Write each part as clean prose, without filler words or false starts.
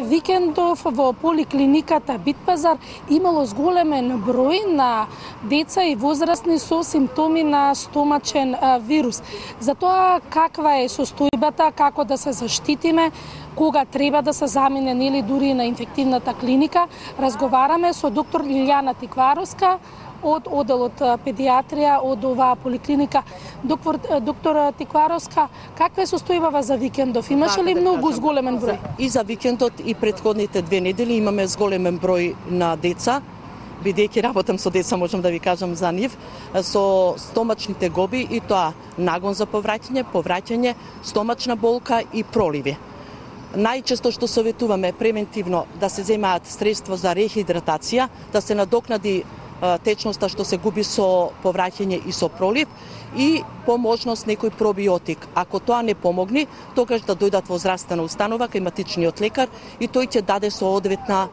Викендов во поликлиниката Битпазар имало зголемен број на деца и возрастни со симптоми на стомачен вирус. За тоа каква е состојбата, како да се заштитиме, кога треба да се замине или дури на инфективната клиника, разговараме со доктор Лилјана Тикваровска од оделот педиатрија од оваа поликлиника. Доктор Тикваровска, каква е состојбава за викендов? Имаше ли многу зголемен број? И за викендот и претходните 2 недели имаме зголемен број на деца. Бидејќи работам со деца, можам да ви кажам за нив, со стомачните гоби и тоа нагон за повраќање, стомачна болка и проливи. Најчесто што советуваме превентивно да се земаат средства за рехидратација, да се надокнади течноста што се губи со повраќање и со пролив и по можност некој пробиотик. Ако тоа не помогне, тогаш да дојдат во здравствена установа кај матичниот лекар и тој ќе даде соодветна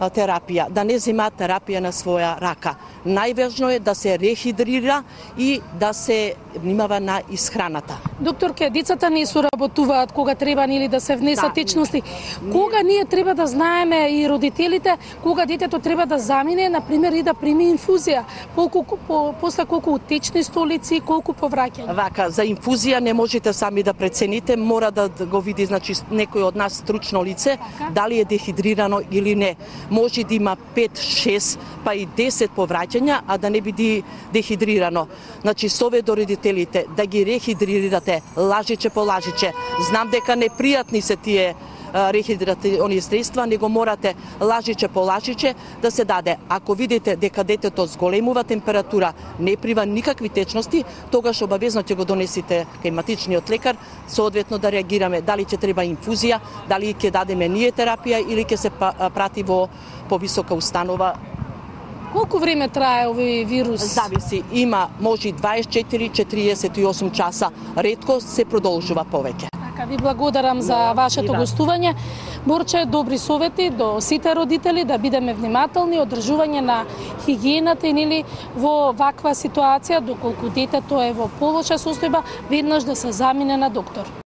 терапија, да не земаат терапија на своја рака. Најважно е да се рехидрира и да се внимава на исхраната. Докторке, децата не соработуваат кога треба или да се внесат течности. Кога ние треба да знаеме и родителите кога детето треба да замине, на пример, и да прими инфузија? После колку течни столици, колку повраќање? Вака, за инфузија не можете сами да прецените, мора да го види, значи, некој од нас стручно лице, дали е дехидрирано или не. Може да има 5, 6, па и 10 повраќања, а да не биде дехидрирано. Значи, совет до родителите да ги рехидрирате лажиче по лажиче. Знам дека непријатни се тие рехидративни средства, него морате лажиче по лажиче да се даде. Ако видите дека детето зголемува температура, не прива никакви течности, тогаш обавезно ќе го донесите кај матичниот лекар, соодветно да реагираме дали ќе треба инфузија, дали ќе дадеме ние терапија или ќе се прати во повисока установа. Колку време трае овој вирус? Зависи, има може 24-48 часа, ретко се продолжува повеќе. Ви благодарам за вашето гостување. Борче, добри совети до сите родители да бидеме внимателни, одржување на хигиената или во ваква ситуација, доколку детето е во полоша состојба, веднаш да се замине на доктор.